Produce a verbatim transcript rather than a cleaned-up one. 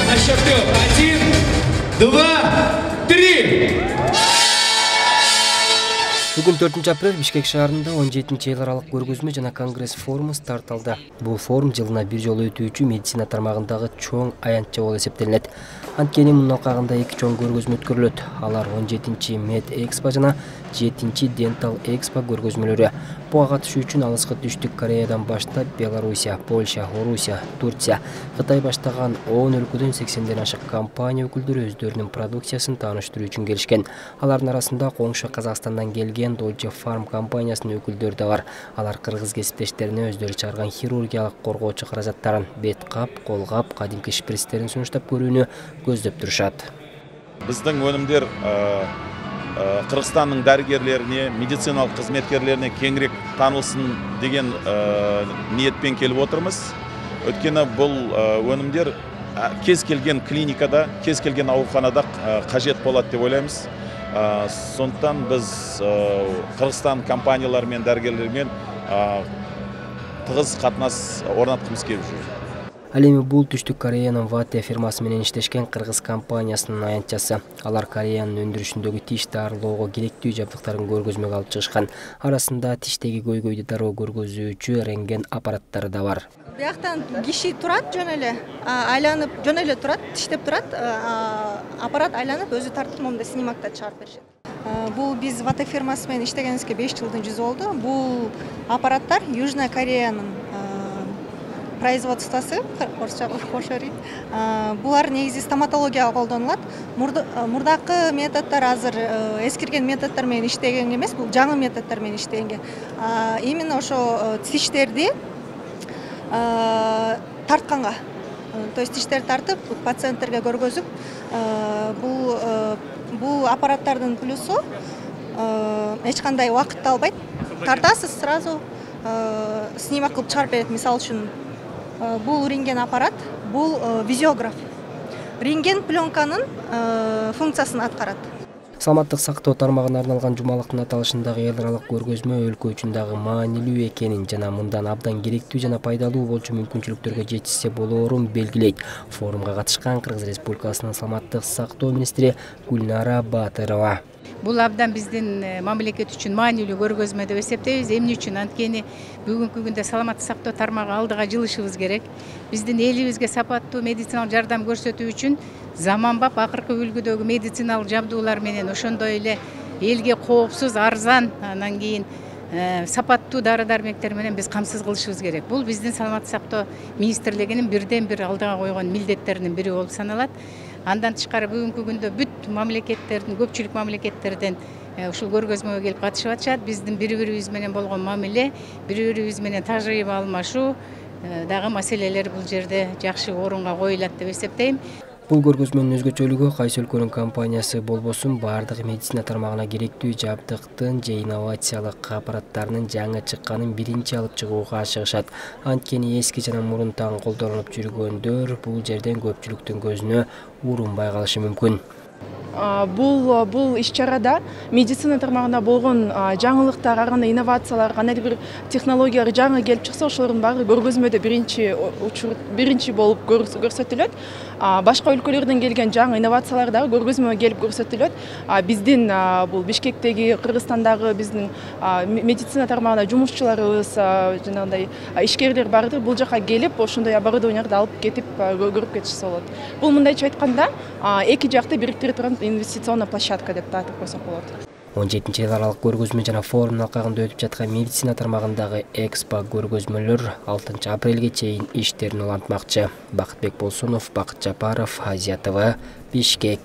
На счет трех. Один, два, три. Бүгүн төртүнчү апрель Бишкек шаарында он жетинчи эл аралык көргөзмө жана конгресс форуму старт алды. Бул форум жылына бир жолу өтүүчү медицина тармагындагы чоң аянтча болуп эсептелинет. Анткени мунун алкагында эки чоң көргөзмө өткөрүлөт. Алар он жетинчи Med Expo жана жетинчи Dental Expo көргөзмөлөрү. Буга катышуу үчүн алыскы Түштүк Кореядан баштап Белоруссия, Польша, Орусия, Турция, Кытай баштаган он өлкөдөн сексенден ашык компания өкүлдөрү өздөрүнүн продукциясын тааныштыруу үчүн келишкен. Алардын арасында коңшу Казакстандан келген Deutsche Farm компаниясынын өкүлдөрү да бар. Алар кыргыз кесиптештерине өздөрү чыгарган хирургиялык коргоочу каражаттарын, бет кап, кол кап, кадимки шприцтерин сунуштап көрүүнү көздөп турушат. Биздин өнүмдөр Кыргызстандын дарыгерлерине, медициналык кызметкерлерине кеңирээк таанылсын деген ниетпен келип отурбуз. Өткөнү бул өнүмдөр кез келген клиникада, кез келген ооруканада кажет болот деп ойлойбуз. Сондуктан биз Кыргызстан компаниялары менен дарыгерлер менен тыгыз катнаш орнаткыбыз келип жүр. Ал эми бул Түштүк Кореянын Вате фирмасы менен иштешкен кыргыз компаниясынын аянтчасы. Алар Кореянын өндүрүшүндөгү тиш дарылоого керектүү жабдыктарын көргөзмөгө алып чыгышкан. Арасында тиштеги көйгөйдү дароо көргөзүүчү рентген аппараттары да бар. Бияктан киши турат, жөн эле айланып, жөн эле турат, тиштеп турат, аппарат айланып өзү тартып момундай снимокто чыгарып беришет. Бул биз Вате фирмасы менен иштегенибизге беш жылдын жүзү болду. Бул аппараттар Южная Кореянын производствосы, орусча кошорит. Булар негизи стоматологияга колдонулат. Мурдакы методдор азыр эскирген методдор менен иштеген эмес, бул жаңы методдор менен иштеген. Именно ошо тиштерди тартканга, то есть тиштерди тартып пациенттерге көргөзүп, бул бул аппараттардын плюсу эч кандай убакытты албайт. Тартасыз сразу снимок кылып чыгарып берет. Мисалы үчүн бул рентген аппарат, бул визиограф. Рентген пленканын функциясын аткарат. Саламаттык сактоо тармагына арналган жумалыктын аталышындагы эл аралык көргөзмө өлкө үчүн дагы маанилүү экенин жана мындан абдан керектүү жана пайдалуу болчу мүмкүнчүлүктөргө жетишсе болоорун белгилейт. Форумга катышкан Кыргыз Республикасынын саламаттык сактоо министри Гүлнара Батырова. Бул абдан биздин мамлекет үчүн маанилүү көргөзмө деп эсептейбиз. Эмне үчүн? Анткени бүгүнкү күндө саламаттык сактоо тармагы алдыга жылышыбыз керек. Биздин элибизге сапаттуу медициналык жардам көрсөтүү үчүн заманбап акыркы үлгүдөгү медициналык жабдуулар менен ошондой эле элге коопсуз, арзан, анан кийин сапаттуу дары-дармектер менен биз камсыз кылышыбыз керек. Бул биздин саламаттык сактоо министрлигинин бирден бир алдыга койгон милдеттеринин бири болуп саналат. Андан тышкары бүгүнкү күндө бүт мамлекеттердин, көпчүлүк мамлекеттерден ушул көргөзмөгө келип катышып атышат. Биздин бири-бирибиз менен болгон мамиле, бири-бирибиз менен тажрыйба алмашуу дагы маселелер бул жерде жакшы орунга коюлат деп эсептейм. Бул көргөзмөнүн өзгөчөлүгү кайсы өлкөнүн компаниясы болбосун баардык медицина тармагына керектүү жабдыктын же инновациялык аппараттарынын жаңы чыкканын биринчи алып чыгууга ашыгышат. Анткени эски жана мурунтан колдонуп жүргөндөр бул жерден көпчүлүктүн көзүнө урунбай калышы мүмкүн. Бул бул иш-чарада медицина тармагында болгон жаңылыктар, ар кандай инновациялар, кандайдыр бир технологиялар жаңы келип чыкса, ошолордун баары көргөзмөдө биринчи учур биринчи болуп көрсөтүлөт. Башка өлкөлөрдөн келген жаңы инновациялар дагы көргөзмөгө келип көрсөтүлөт. Биздин бул Бишкектеги, Кыргызстандагы биздин медицина тармагында жумушчуларыбыз, жанагындай ишкерлер бардыр. Бул жака келип, ошондой оборудованияларды алып кетип көрүп кетишсе болот. Бул мындайча айтканда эки жакты бириктире турган инвестиционный площадка деп айтып койсок болот. он жетинчи эл аралык көргөзмө жана форумдун алкагында өтүп жаткан медицина тармагындагы экспо көргөзмөлөр алтынчы апрелге чейин иштерин улантмакчы. Бакытбек Болсунов, Бакыт Жапаров, Азия ТВ, Бишкек.